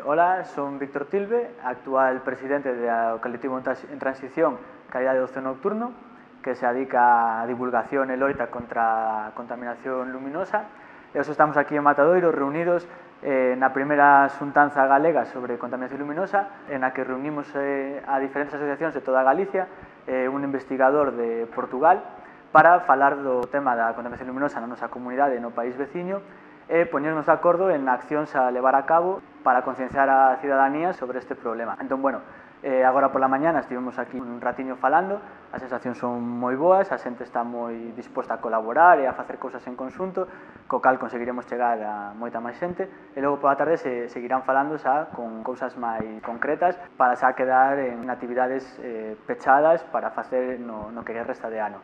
Hola, son Víctor Tilbe, actual presidente do colectivo en transición Calidade do Ocio Nocturno, que se dedica a divulgación e loita contra a contaminación luminosa. E hoxe estamos aquí en Matadoiro reunidos na primeira xuntanza galega sobre contaminación luminosa, en a que reunimos a diferentes asociacións de toda Galicia, un investigador de Portugal, para falar do tema da contaminación luminosa na nosa comunidade e no país veciño, e poñernos de acordo en accións a levar a cabo para concienciar a cidadanía sobre este problema. Entón, bueno, agora pola mañana estivemos aquí un ratiño falando, as sensacións son moi boas, a xente está moi disposta a colaborar e a facer cousas en conxunto, co cal conseguiremos chegar a moita máis xente, e logo pola tarde se seguirán falando xa con cousas máis concretas para xa quedar en actividades pechadas para facer no que resta de ano.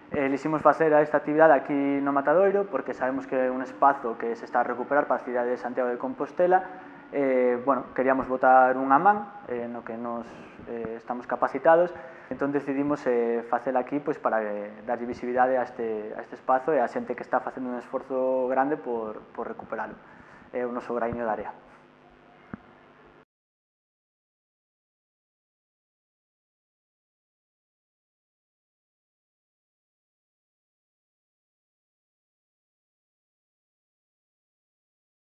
Eliximos facer esta actividade aquí no Matadoiro porque sabemos que é un espazo que se está a recuperar para a cidade de Santiago de Compostela. Bueno, queríamos botar unha man no que nos estamos capacitados, entón decidimos facela aquí pois, para darlle visibilidade a este espazo e a xente que está facendo un esforzo grande por recuperalo. É o noso graiño de area.